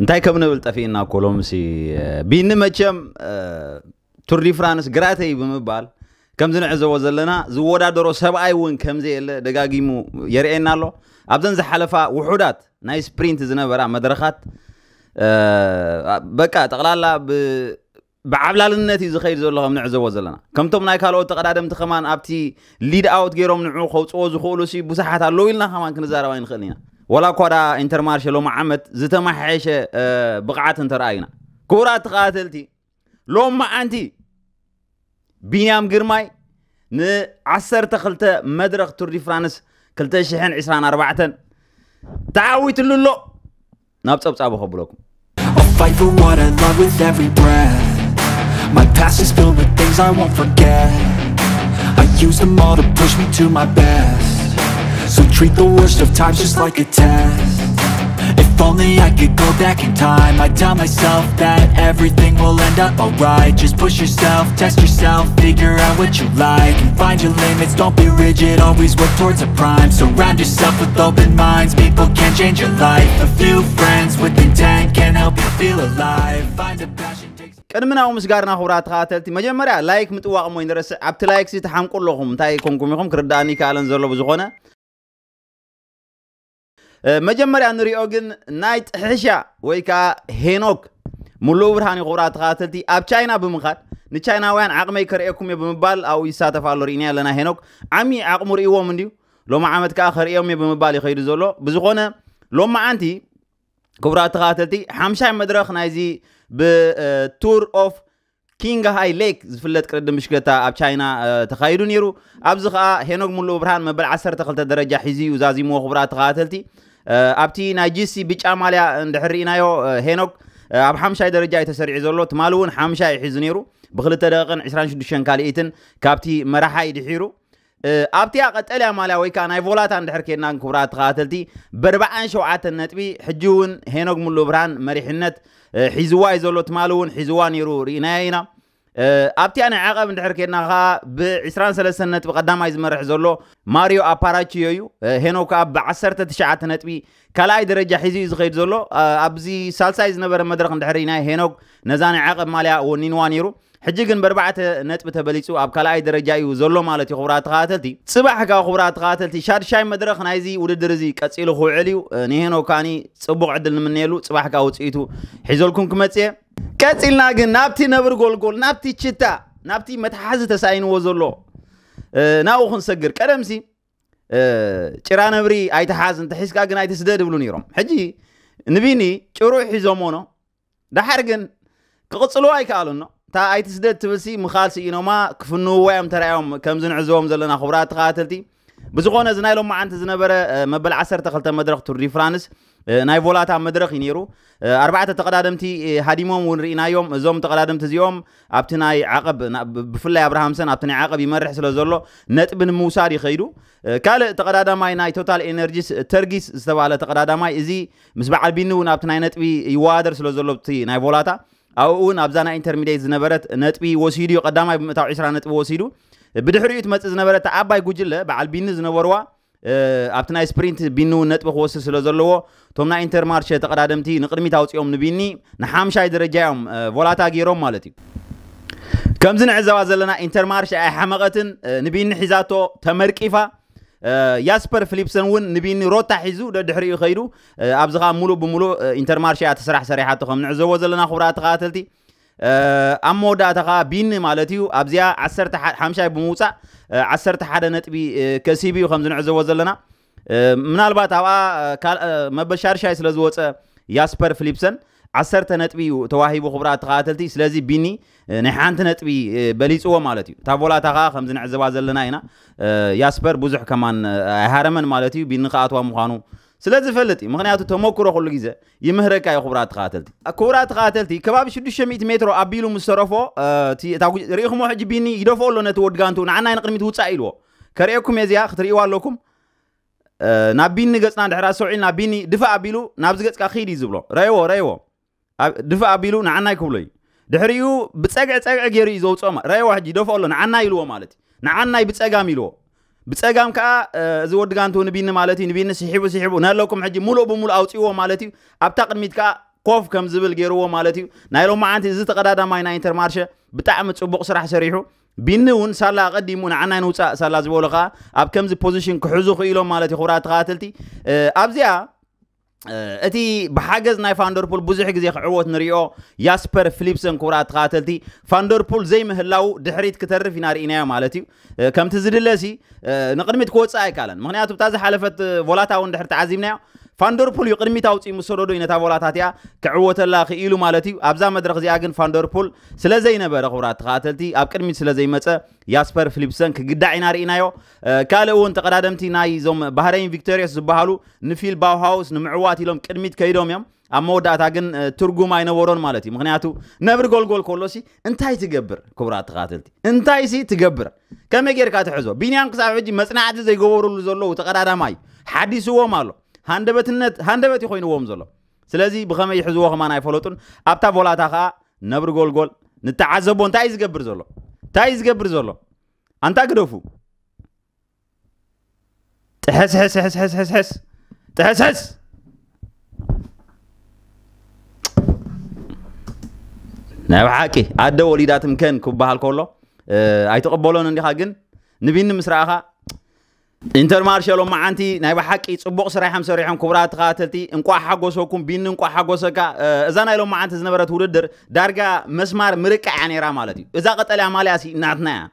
እንታይ ከም ንብል ጠፊእና እኮ ሎምሲ። ቢኒ መቸም ቱር ዲ ፍራንስ ግራተይ ብምባል ከምዚ ንዕዘቦ ዘለና ዝወዳደሮ ሰብኣይ እውን ከምዘየለ ደጋጊሙ የርእየና ኣሎ። ኣብዘን ዝሓለፋ ውሑዳት ናይ ስፕሪንት ዝነበራ መድረኻት በቃ ጠቕላላ ብዓብላልነት እዩ ዝኸይድ ዘሎ ከም ንዕዘቦ ዘለና። ከምቶም ናይ ካልኦት ተቐዳደምቲ ከማን ኣብቲ ሊድ ኣውት ገይሮም ንዑ ከውፅዎ ዝኽእሉ ሲ ብዙሓት ኣለዉ ኢልና ከማን ክንዛረብ ኣይንኽእል ኢና። ወላ እኳ ዳ ኢንተርማርሸ ሎሚ ዓመት ዝተመሓየሸ ብቕዓት እንተረኣዩና፣ ክቡራት ተኸታተልቲ፣ ሎም መዓንቲ ቢንያም ግርማይ ንዓሰርተ ክልተ መድረኽ ቱር ዲ ፍራንስ ክልተ ሽሕን ዕስራን ኣርባዕተን ተዓዊትሉ ኣሎ። ናብ ጸብጻቡ ከብለኩም። I'll fight for what I love with every breath. My past is filled with things I won't forget. I use them all to push me to my best. So treat the worst of times just like a test. If only I could go back in time, I'd tell myself that everything will end up alright. Just push yourself, test yourself, figure out what you like, and find your limits. Don't be rigid, always work towards a prime. Surround yourself with open minds, people can change your life. A few friends with intent can help you feel alive. Find a passion, take ቅድሚ ናብኡ ምስጋርና ክቡራት ተኸታተልቲ፣ መጀመርያ ላይክ ምጥዋቕ እሞ ይንረስዕ። ኣብቲ ላይክ ሲ ትሓምቁ ኣለኹም፣ እንታይ ኮንኩም ኢኹም ክርዳእኒ ይከኣለን ዘሎ። ብዝኾነ መጀመርያ ንሪኦ ግን ናይ ጥሕሻ ወይ ከዓ ሄኖክ ሙሉእ ብርሃን እዩ። ክቡራት ተኸታተልቲ፣ ኣብ ቻይና ብምኻድ ንቻይናውያን ዓቕመይ ከርእየኩም እየ ብምባል ኣብኡ ይሳተፍ ኣሎ። ርኢና ኣለና። ሄኖክ ዓሚ ዓቕሙ ርእይዎም እንድዩ። ሎም ዓመት ከዓ ከርእዮም እየ ብምባል እዩ ከይዱ ዘሎ። ብዝኾነ ሎም መዓንቲ ክቡራት ተኸታተልቲ፣ ሓምሻይ መድረኽ ናይዚ ብቱር ኦፍ ኪንግ ሃይ ሌክ ዝፍለጥ ቅድድም ብሽክለታ ኣብ ቻይና ተኻይዱ ነይሩ። ኣብዚ ከዓ ሄኖግ ሙሉእ ብርሃን መበል ዓሰርተ ክልተ ደረጃ ሒዙ እዩ ዛዚምዎ። ክቡራት ተኸታተልቲ፣ ኣብቲ ናይ ጂሲ ብጫ ማልያ እንድሕር ርኢናዮ፣ ሄኖግ ኣብ ሓምሻይ ደረጃ እዩ ተሰሪዑ ዘሎ። ትማሊ እውን ሓምሻይ እዩ ሒዙ ነይሩ፣ ብክልተ ደቂቕን ዕስራን ሽዱሽተን ካልኢትን ካብቲ መራሓይ ድሒሩ። ኣብቲኣ ቀጠልያ ማልያ ወይ ከዓ ናይ ቮላታ እንድሕር ኬድና፣ ክቡራት ተኸታተልቲ፣ በርባዓን ሸውዓተን ነጥቢ ሕጂ እውን ሄኖግ ሙሉ ብርሃን መሪሕነት ሒዝዋ እዩ ዘሎ። ትማሊ እውን ሒዝዋ ነይሩ፣ ርኢናዮ ኢና። ኣብቲኣ ናይ ዓቐብ እንድሕር ኬድና ከዓ ብዕስራን ሰለስተን ነጥቢ ቀዳማይ ዝመርሕ ዘሎ ማሪዮ ኣፓራቺዮ እዩ። ሄኖክ ከዓ ብዓሰርተ ትሽዓተ ነጥቢ ካልኣይ ደረጃ ሒዙ እዩ ዝኸይድ ዘሎ። ኣብዚ ሳልሳይ ዝነበረ መድረኽ እንድሕር ኢና ሄኖክ ነዛ ናይ ዓቐብ ማልያ ወኒንዋ ነይሩ። ሕጂ ግን በርባዕተ ነጥቢ ተበሊፁ ኣብ ካልኣይ ደረጃ እዩ ዘሎ ማለት እዩ። ክቡራት ተኸታተልቲ፣ ፅባሕ ከዓ ክቡራት ተኸታተልቲ ሻድሻይ መድረኽ ናይዚ ውድድር እዚ ቀፂሉ ክውዕል እዩ። ንሄኖክ ካኒ ፅቡቕ ዕድል ንምነየሉ። ፅባሕ ከዓ ውፅኢቱ ሒዘልኩም ክመፅእ እየ። ቀፂልና ግን ናብቲ ነብሪ ጎልጎል፣ ናብቲ ችታ፣ ናብቲ መትሓዚ ተሳኢንዎ ዘሎ ናብኡ ክንሰግር። ቀደምሲ ጭራ ነብሪ ኣይትሓዝ፣ እንተሒዝካ ግን ኣይትስደድ ይብሉ ነይሮም። ሕጂ ንቢኒ ጭሩይ ሒዞሞ ኖ፣ ደሓር ግን ክቕጽልዎ ኣይከኣሉን ኖ። እታ ኣይትስደድ ትብልሲ ምኻል ስኢኖማ ክፍንውዋ እዮም ተራእዮም፣ ከምዚ ንዕዘቦም ዘለና። ክቡራት ተኸታተልቲ፣ ብዝኾነ እዚ ናይ ሎም መዓንቲ ዝነበረ መበል ዓሰርተ ክልተ መድረኽ ቱር ዲ ፍራንስ ናይ ቮላታ መድረኽ እዩ ነይሩ። ኣርባዕተ ተቐዳደምቲ ሃዲሞም እውን ርኢናዮም። እዞም ተቐዳደምቲ እዚኦም ኣብቲ ናይ ዓቐብ ብፍላይ ኣብርሃምሰን ኣብቲ ናይ ዓቐብ ይመርሕ ስለ ዘሎ ነጥቢ ንምውሳድ ይኸይዱ። ካልእ ተቐዳዳማይ ናይ ቶታል ኤነርጂስ ተርጊስ ዝተባህለ ተቐዳዳማይ፣ እዚ ምስ በዓል ቢኒ እውን ኣብቲ ናይ ነጥቢ ይወዳደር ስለ ዘሎ ኣብቲ ናይ ቮላታ፣ ኣብኡ እውን ኣብዛ ናይ ኢንተርሚዲየት ዝነበረት ነጥቢ ወሲዱ እዩ ቀዳማይ ብምእታው ዕስራ ነጥቢ ወሲዱ። ብድሕሪኡ ትመፅእ ዝነበረት ዓባይ ጉጅለ በዓል ቢኒ ዝነበርዋ ኣብቲ ናይ ስፕሪንት ቢኒ እውን ነጥቢ ክወስድ ስለ ዘለዎ እቶም ናይ ኢንተርማርሸ ተቐዳደምቲ ንቕድሚት ኣውፂኦም ንቢኒ ንሓምሻይ ደረጃ እዮም ቮላታ ገይሮም ማለት እዩ። ከምዚ ንዕዘባ ዘለና ኢንተርማርሸ ኣይሓመቐትን፣ ንቢኒ ሒዛቶ ተመርቂፋ። ያስፐር ፊሊፕሰን እውን ንቢኒ ሮታ ሒዙ ደድሕሪኡ ከይዱ። ኣብዚ ከዓ ሙሉእ ብሙሉእ ኢንተርማርሸ እያ እቲ ስራሕ ሰሪሓቶ ከም ንዕዘቦ ዘለና። ክቡራት ተኸታተልቲ፣ ኣብ መወዳእታ ከዓ ቢኒ ማለት እዩ ኣብዚኣ ዓሰርተ ሓምሻይ ብምውፃእ ዓሰርተ ሓደ ነጥቢ ከሲቡ እዩ ከምዚ ንዕዘቦ ዘለና። ምናልባት ኣብኣ መበል ሻድሻይ ስለ ዝወፀ ያስፐር ፊሊፕሰን ዓሰርተ ነጥቢ እዩ ተዋሂቡ። ክቡራት ተኸታተልቲ፣ ስለዚ ቢኒ ናይ ሓንቲ ነጥቢ በሊፅዎ ማለት እዩ። እታ ቮላታ ከዓ ከምዚ ንዕዘባ ዘለና ኢና። ያስፐር ብዙሕ ከማን ኣይሃረመን ማለት እዩ፣ ቢኒ ክኣትዋ ምዃኑ ስለ ዝፈልጥ እዩ። ምክንያቱ ተመክሮ ኩሉ ግዜ ይምህረካ እዩ። ክቡራት ተኸታተልቲ፣ ክቡራት ተኸታተልቲ፣ ከባቢ ሽዱሽተ ሚእቲ ሜትሮ ኣቢሉ ምስ ተረፎ፣ እቲ፣ እታ ጉ-፣ ርኢኹሞ ሕጂ ቢኒ ይደፍኦ ኣሎ ነቲ ወዲ ጋንቱ፣ ንዓናይ ንቕድሚት ውፃእ ኢልዎ። ከርእየኩም እየ እዚኣ፣ ክትርእይዋ ኣለኩም። ናብ ቢኒ ገፅና እንድሕር ኣስተውዒልና፣ ቢኒ ድፋእ ኣቢሉ ናብዚ ገፅካ ኺድ እዩ ዝብሎ። ረእይዎ፣ ረእይዎ። ኣብ-፣ ድፋእ ኣቢሉ ንዓናይ ክብሎ እዩ። ድሕሪኡ ብፀግዒ ፀግዒ ገይሩ እዩ ዘውፅኦ። ማ-፣ ረእይዎ ሕጂ ይደፍኦ ኣሎ፣ ንዓናይ ኢልዎ ማለት እዩ። ንዓናይ ብፀጋም ኢልዎ። ብፀጋም ከዓ፣ እዚ ወዲ ጋንቱ ንቢኒ ማለት እዩ። ንቢኒ ስሒቡ፣ ስሒቡ፣ ነለኩም ሕጂ ሙሉእ ብሙሉእ ኣውፅእዎ ማለት እዩ። ኣብታ ቅድሚት ከዓ ኮፍ ከም ዝብል ገይርዎ ማለት እዩ። ናይ ሎማዓንቲ እዚ ተቐዳዳማይ ናይ ኢንተርማርሸ ብጣዕሚ ጽቡቕ ስራሕ ሰሪሑ። ቢኒ እውን ሳላ ኣቐዲሙ ንዓናይ ንውፃእ ሳላ ዝበሎ ከዓ ኣብ ከምዚ ፖዚሽን ክሕዙ ክኢሎም ማለት እዩ። ክቡራት ተኸታተልቲ ኣብዚኣ እቲ ብሓገዝ ናይ ፋንደርፑል ብዙሕ ግዜ ክዕወት ንሪኦ ያስፐር ፊሊፕሰን። ክቡራት ተኸታተልቲ ፋንደርፑል ዘይምህላው ድሕሪት ክተርፍ ኢና ርኢናዮ ማለት እዩ። ከምቲ ዝድለሲ ንቕድሚት ክወፅእ ኣይካለን። ምክንያቱ እታ ዝሓለፈት ቮላታ እውን ድሕሪ ተዓዚብናዮ ፋንደርፑል እዩ ቅድሚት ኣውፅኡ ምስ ሰደዶ እዩ ነታ ቮላታ እቲኣ ክዕወተላ ክኢሉ ማለት እዩ። ኣብዛ መድረክ እዚኣ ግን ፋንደርፑል ስለ ዘይነበረ ክቡራት ተኸታተልቲ ኣብ ቅድሚት ስለ ዘይመፀ ያስፐር ፊሊፕሰን ክግዳዕ ኢና ርኢናዮ። ካልእ እውን ተቐዳደምቲ ናይ ዞም ባህረይን ቪክቶሪየስ ዝበሃሉ ንፊል ባውሃውስ ንምዕዋት ኢሎም ቅድሚት ከይዶም እዮም። ኣብ መወዳእታ ግን ትርጉም ኣይነበሮን ማለት እዩ። ምክንያቱ ነብሪ ጎልጎል ከሎሲ እንታይ ትገብር? ክቡራት ተኸታተልቲ እንታይ ሲ ትገብር? ከመይ ጌርካ ትሕዞ? ቢንያም ክሳብ ሕጂ መፅናዕቲ ዘይገበሩሉ ዘለዉ ተቐዳዳማይ ሓዲስዎም ኣሎ። ሃንደበትነት ሃንደበት ይኮይንዎም ዘሎ። ስለዚ ብኸመይ ይሕዝዎ ከማን ኣይፈለጡን። ኣብታ ቮላታ ከዓ ነብሪ ጎልጎል ንተዓዘቦ እንታይ እዩ ዝገብር ዘሎ? እንታይ እዩ ዝገብር ዘሎ? ኣንታ ግደፉ። ጥሕስሕስሕስሕስሕስ ጥሕስሕስ ናይ ብሓቂ ኣደ ወሊዳ ትምከን ክበሃል ከሎ ኣይትቕበሎን እንዲኻ። ግን ንቢኒ ምስ ረኣኻ ኢንተር ማርሸ ሎማዓንቲ ናይ ብሓቂ ጽቡቕ ስራሕ እዮም ሰሪሖም። ክቡራት ተኸታተልቲ እንቋዕ ሓጎሰኩም። ቢኒ እንቋዕ ሓጎሰካ። እዛ ናይ ሎማዓንቲ ዝነበረት ውድድር ዳርጋ መስማር ምርቃዕ እያ ነይራ ማለት እዩ። እዛ ቀጠልያ ማልያ ሲ ናትና እያ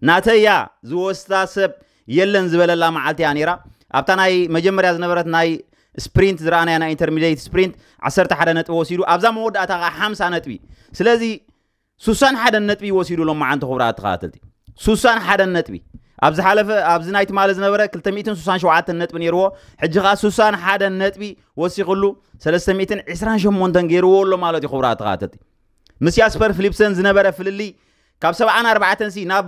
ናተያ ዝወስዳ ሰብ የለን ዝበለላ መዓልቲ እያ ነይራ። ኣብታ ናይ መጀመርያ ዝነበረት ናይ ስፕሪንት ዝረኣናያ ናይ ኢንተርሚዲየት ስፕሪንት ዓሰርተ ሓደ ነጥቢ ወሲዱ ኣብዛ መወዳእታ ከዓ ሓምሳ ነጥቢ። ስለዚ ሱሳን ሓደን ነጥቢ ወሲዱ ሎማዓንቲ ክቡራት ተኸታተልቲ ሱሳን ሓደን ነጥቢ። ኣብ ዝሓለፈ ኣብዚ ናይ ትማሊ ዝነበረ ክልተ ሚእትን ሱሳን ሸውዓተን ነጥቢ ነይርዎ። ሕጂ ከዓ ሱሳን ሓደን ነጥቢ ወሲኽሉ ሰለስተ ሚእትን ዕስራን ሸሞንተን ገይርዎ ኣሎ ማለት እዩ። ክቡራት ተኸታተልቲ ምስ ያስፐር ፊሊፕሰን ዝነበረ ፍልልይ ካብ ሰብዓን ኣርባዕተን ሲ ናብ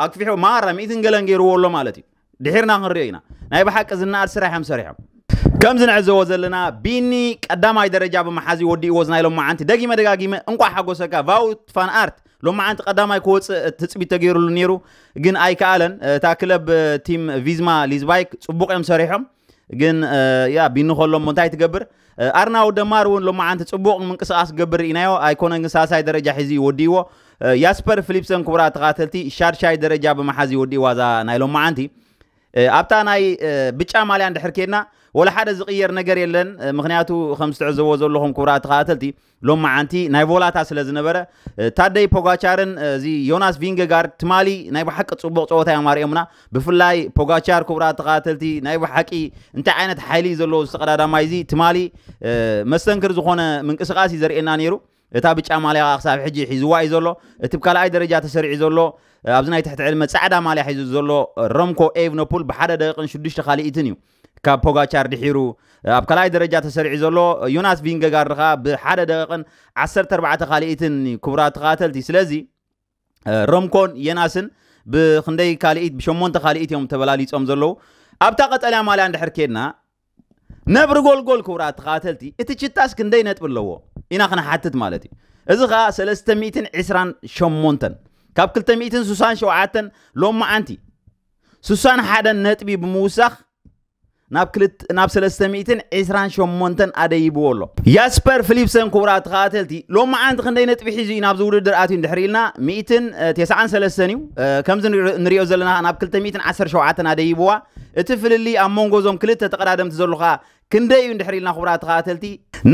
ኣክፊሑ ማራ ሚእትን ገለን ገይርዎ ኣሎ ማለት እዩ። ድሒርና ክንሪኦ ኢና። ናይ ብሓቂ ዝነኣድ ስራሕ እዮም ሰሪሖም። ከምዚ ንዕዘቦ ዘለና ቢኒ ቀዳማይ ደረጃ ብምሓዝ እዩ ወዲእዎ እዚ ናይ ሎማዓንቲ። ደጊመ ደጋጊመ እንቋዕ ሓጎሰካ ቫውት ፋን ኣርት። ሎማዓንቲ ቀዳማይ ክወፅእ ትፅቢት ተገይሩሉ ነይሩ ግን ኣይከኣለን። እታ ክለብ ቲም ቪዝማ ሊዝባይክ ፅቡቕ እዮም ሰሪሖም። ግን ያ ቢኒ ከሎ እሞ እንታይ ትገብር? ኣርናው ደማር እውን ሎማዓንቲ ፅቡቕ ምንቅስቃስ ክገብር ኢናዮ ኣይኮነን ግን ሳልሳይ ደረጃ ሒዙ እዩ ወዲእዎ። ያስፐር ፊሊፕሰን ክቡራት ተኸታተልቲ ሻድሻይ ደረጃ ብምሓዝ እዩ ወዲእዋ እዛ ናይ ሎማዓንቲ። ኣብታ ናይ ብጫ ማልያ እንድሕር ኬድና ወላ ሓደ ዝቕየር ነገር የለን። ምክንያቱ ከም ዝትዕዘቦ ዘለኹም ክቡራት ተኸታተልቲ ሎማዓንቲ ናይ ቮላታ ስለ ዝነበረ ታደይ ፖጋቻርን እዚ ዮናስ ቪንገጋርድ ትማሊ ናይ ብሓቂ ፅቡቕ ፀወታ እዮም ኣርእዮምና። ብፍላይ ፖጋቻር ክቡራት ተኸታተልቲ ናይ ብሓቂ እንታይ ዓይነት ሓይሊ እዩ ዘለዎ ዝተቐዳዳማይ እዚ ትማሊ መስተንክር ዝኾነ ምንቅስቃስ እዩ ዘርእየና ነይሩ። እታ ብጫ ማልያ ከዓ ክሳብ ሕጂ ሒዝዋ እዩ ዘሎ። እቲ ብካልኣይ ደረጃ ተሰሪዑ ዘሎ ኣብዚ ናይ ትሕቲ ዕድመ ፃዕዳ ማልያ ሒዙ ዘሎ ረምኮ ኤቭኖፑል ብሓደ ደቂቕን ሽዱሽተ ካልኢትን እዩ ካብ ፖጋቻር ድሒሩ ኣብ ካልኣይ ደረጃ ተሰሪዑ ዘሎ። ዮናስ ቪንገጋርድ ከዓ ብሓደ ደቂቕን ዓሰርተ ኣርባዕተ ካልኢትን እዩ ክቡራት ተኸታተልቲ። ስለዚ ረምኮን የናስን ብክንደይ ካልኢት ብሸሞንተ ካልኢት እዮም ተበላሊፆም ዘለዉ። ኣብታ ቀጠልያ ማልያ እንድሕር ኬድና ነብሪ ጎልጎል ክቡራት ተኸታተልቲ እቲ ችታስ ክንደይ ነጥቢ ኣለዎ ኢና ክንሓትት ማለት እዩ። እዚ ከዓ ሰለስተ ሚእትን ዕስራን ሸሞንተን ካብ ክልተ ሚእትን ሱሳን ሸውዓተን ሎማዓንቲ ሱሳን ሓደን ነጥቢ ብምውሳኽ ናብ ክልት ናብ ሰለስተ ሚእትን ዕስራን ሸሞንተን ኣደይብዎ ኣሎ። ያስፐር ፊሊፕሰን ክቡራት ተኸታተልቲ ሎማዓንቲ ክንደይ ነጥቢ ሒዙ እዩ ናብዚ ውድድር ኣትዩ እንድሕር ኢልና ሚእትን ተስዓን ሰለስተን እዩ። ከምዚ ንሪኦ ዘለና ናብ ክልተ ሚእትን ዓሰርተ ሸውዓተን ኣደይብዋ። እቲ ፍልልይ ኣብ መንጎ እዞም ክልተ ተቐዳደምቲ ዘሎ ከዓ ክንደይ እዩ እንድሕር ኢልና ክቡራት ተኸታተልቲ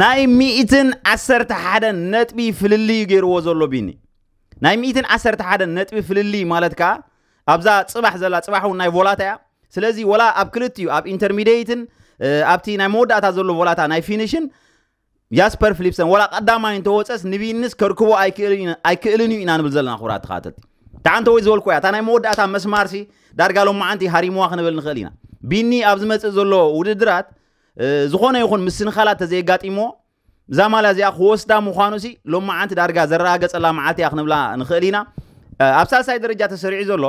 ናይ ሚእትን ዓሰርተ ሓደን ነጥቢ ፍልልይ እዩ ገይርዎ ዘሎ ቢኒ። ናይ ሚእትን ዓሰርተ ሓደን ነጥቢ ፍልልይ ማለት ከዓ ኣብዛ ፅባሕ ዘላ ፅባሕ እውን ናይ ቮላታ እያ። ስለዚ ወላ ኣብ ክልቲኡ ኣብ ኢንተርሚዲየትን ኣብቲ ናይ መወዳእታ ዘሎ ቮላታ ናይ ፊኒሽን ያስፐር ፊሊፕሰን ወላ ቀዳማይ እንተወፀስ ንቢንስ ከርክቦ ኣይክእልን እዩ ኢና ንብል ዘለና ክቡራት ተኸታተልቲ። እታ ዓንተ ወይ ዝበልኩ እያ እታ ናይ መወዳእታ መስማርሲ ዳርጋ ሎማዓንቲ ሃሪምዋ ክንብል ንኽእል ኢና። ቢኒ ኣብ ዝመፅእ ዘሎ ውድድራት ዝኾነ ይኹን ምስንኻላት ተዘየጋጢምዎ እዛ ማልያ እዚኣ ክወስዳ ምዃኑ ሲ ሎማዓንቲ ዳርጋ ዘረጋገፀላ መዓልቲ እያ ክንብላ ንኽእል ኢና። ኣብ ሳልሳይ ደረጃ ተሰሪዑ ዘሎ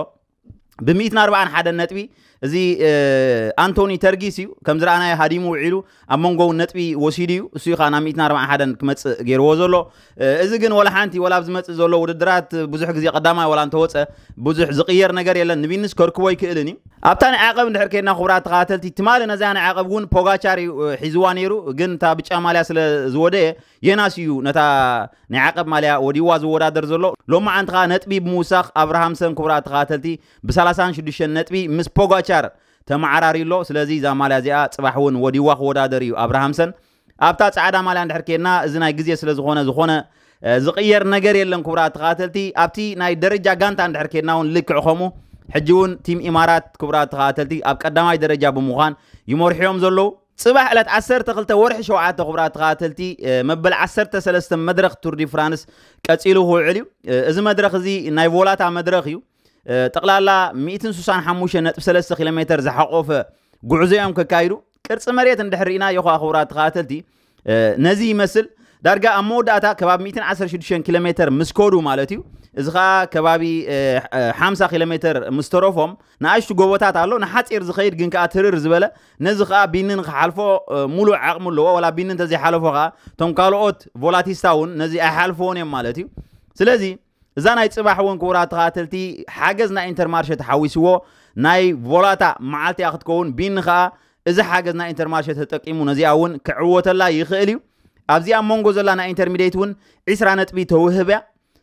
ብ ሚእትን ኣርባዓን ሓደን ነጥቢ እዚ ኣንቶኒ ተርጊስ እዩ። ከም ዝረኣናዮ ሃዲሙ ውዒሉ ኣብ መንጎ እውን ነጥቢ ወሲዱ እዩ። እሱ እዩ ከዓ ናብ ሚእትን ኣርባዓን ሓደን ክመፅእ ገይርዎ ዘሎ። እዚ ግን ወላ ሓንቲ ወላ ኣብ ዝመፅእ ዘሎ ውድድራት ብዙሕ ግዜ ቀዳማይ ወላ እንተወፀ ብዙሕ ዝቕየር ነገር የለን። ንቢንስ ከርክቦ ይክእልን እዩ። ኣብታ ናይ ዓቐብ እንድሕር ከድና ክቡራት ተኸታተልቲ ትማሊ ነዚያ ናይ ዓቐብ እውን ፖጋቻር እዩ ሒዝዋ ነይሩ። ግን እታ ብጫ ማልያ ስለ ዝወደየ የናስ እዩ ነታ ናይ ዓቐብ ማልያ ወዲዋ ዝወዳደር ዘሎ። ሎማዓንቲ ከዓ ነጥቢ ብምውሳኽ ኣብርሃምሰን ክቡራት ተኸታተልቲ ብ ሰላሳን ሽዱሽተን ነጥቢ ምስ ፖጋቻር ተመዓራሪ ኣሎ። ስለዚ እዛ ማልያ እዚኣ ፅባሕ እውን ወዲዋ ክወዳደር እዩ ኣብርሃምሰን። ኣብታ ፃዕዳ ማልያ እንድሕር ከድና እዚ ናይ ግዜ ስለ ዝኾነ ዝኾነ ዝቕየር ነገር የለን። ክቡራት ተኸታተልቲ ኣብቲ ናይ ደረጃ ጋንታ እንድሕር ከድና እውን ልክዕ ከምኡ ሕጂ እውን ቲም ኢማራት ክቡራት ተኸታተልቲ ኣብ ቀዳማይ ደረጃ ብምዃን ይመርሕዮም ዘለዉ። ፅባሕ ዕለት ዓሰርተ ክልተ ወርሒ ሸውዓተ ክቡራት ተኸታተልቲ መበል ዓሰርተ ሰለስተ መድረኽ ቱር ዲ ፍራንስ ቀፂሉ ክውዕል እዩ። እዚ መድረኽ እዚ ናይ ቮላታ መድረኽ እዩ። ጠቕላላ ሚእትን ስሳን ሓሙሽተ ነጥቢ ሰለስተ ኪሎ ሜትር ዝሓቆፈ ጉዕዞ እዮም ከካይዱ። ቅርፂ መሬት እንድሕር ርኢና ይኹ ክቡራት ተኸታተልቲ ነዚ ይመስል። ዳርጋ ኣብ መወዳእታ ከባቢ ሚእትን ዓሰርተ ሽዱሽተን ኪሎ ሜትር ምስ ከዱ ማለት እዩ። እዚ ከዓ ከባቢ ሓምሳ ኪሎ ሜትር ምስ ተረፎም ንኣሽቱ ጎቦታት ኣሎ፣ ንሓፂር ዝኸይድ ግን ከዓ ትርር ዝበለ፣ ነዚ ከዓ ቢኒ ንክሓልፎ ሙሉእ ዓቕሚ ኣለዎ። ወላ ቢኒ እንተዘይሓለፎ ከዓ እቶም ካልኦት ቮላቲስታ እውን ነዚ ኣይሓልፍዎን እዮም ማለት እዩ። ስለዚ እዛ ናይ ፅባሕ እውን ክቡራት ተኸታተልቲ ሓገዝ ናይ ኢንተርማርሸ ተሓዊስዎ ናይ ቮላታ መዓልቲ እያ ክትከውን። ቢኒ ከዓ እዚ ሓገዝ ናይ ኢንተርማርሸ ተጠቂሙ ነዚኣ እውን ክዕወተላ ይኽእል እዩ። ኣብዚኣ መንጎ ዘላ ናይ ኢንተርሚዲየት እውን ዒስራ ነጥቢ ተውህብ እያ።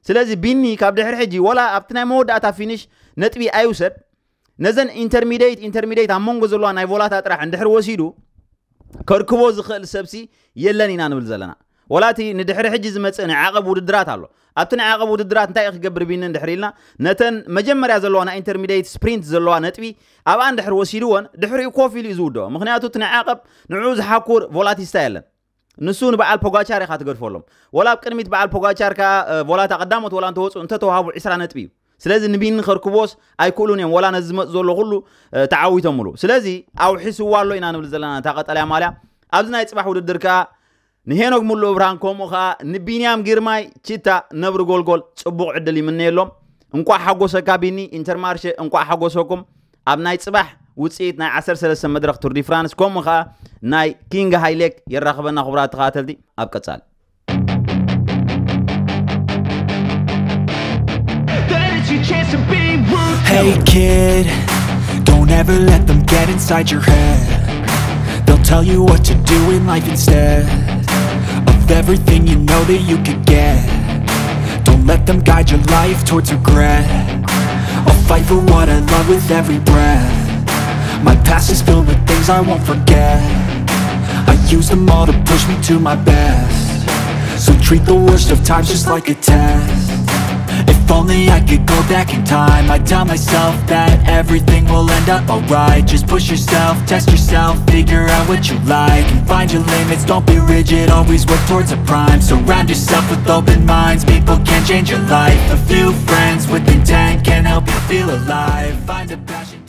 ስለዚ ቢኒ ካብ ድሕሪ ሕጂ ወላ ኣብቲ ናይ መወዳእታ ፊኒሽ ነጥቢ ኣይውሰድ፣ ነዘን ኢንተርሚዲየት ኢንተርሚዲየት ኣብ መንጎ ዘለዋ ናይ ቮላታ ጥራሕ እንድሕር ወሲዱ ከርክቦ ዝኽእል ሰብሲ የለን ኢና ንብል ዘለና። ወላ እቲ ንድሕሪ ሕጂ ዝመፅእ ናይ ዓቐብ ውድድራት ኣሎ። ኣብቲ ናይ ዓቐብ ውድድራት እንታይ እዩ ክገብር ቢኒ እንድሕር ኢልና፣ ነተን መጀመርያ ዘለዋ ናይ ኢንተርሚዲየት ስፕሪንት ዘለዋ ነጥቢ ኣብኣ እንድሕር ወሲድወን ድሕሪኡ ኮፍ ኢሉ እዩ ዝውድኦ። ምክንያቱ እቲ ናይ ዓቐብ ንዕኡ ዝሓኩር ቮላቲስታ የለን። ንሱ ንበዓል ፖጋቻር ኢኻ ትገድፈሎም። ወላ ኣብ ቅድሚት በዓል ፖጋቻር ከኣ ቮላታ ቀዳሞት ወላ እንተወፁ እንተተዋህቡ ዒስራ ነጥቢ እዩ። ስለዚ ንቢኒ ከርክቦስ ኣይክእሉን እዮም። ወላ ነዚ ዝመፅ ዘሎ ኩሉ ተዓዊቶምሉ። ስለዚ ኣውሒስዋ ኣሎ ኢና ንብል ዘለና እታ ቀጠልያ ማልያ። ኣብዚ ናይ ፅባሕ ውድድር ከኣ ንሄኖክ ሙሉእ ብርሃን ከምኡ ከኣ ንቢንያም ግርማይ ቺታ ነብሪ ጎልጎል ፅቡቕ ዕድል ይምነየሎም። እንቋዕ ሓጎሰካ ቢኒ ኢንተርማርሸ፣ እንቋዕ ሓጎሰኩም። ኣብ ናይ ፅባሕ ውፅኢት ናይ ዓሰርተ ሰለስተ መድረኽ ቱር ዲ ፍራንስ ከምኡ ከኣ ናይ ኪንግ ሃይሌክ የራኽበና። ክቡራት ተኸታተልቲ ኣብ ቀጻሊ Hey kid, don't ever let them get inside your head. They'll tell you what to do in life instead of everything you know that you could get. Don't let them guide your life towards regret. I'll fight for what I love with every breath. My past is filled with things I won't forget. I use them all to push me to my best. So treat the worst of times just like a test. If only I could go back in time, I'd tell myself that everything will end up alright. Just push yourself, test yourself, figure out what you like, and find your limits. Don't be rigid, always work towards a prime. Surround yourself with open minds, people can change your life. A few friends with intent can help you feel alive. Find a passion.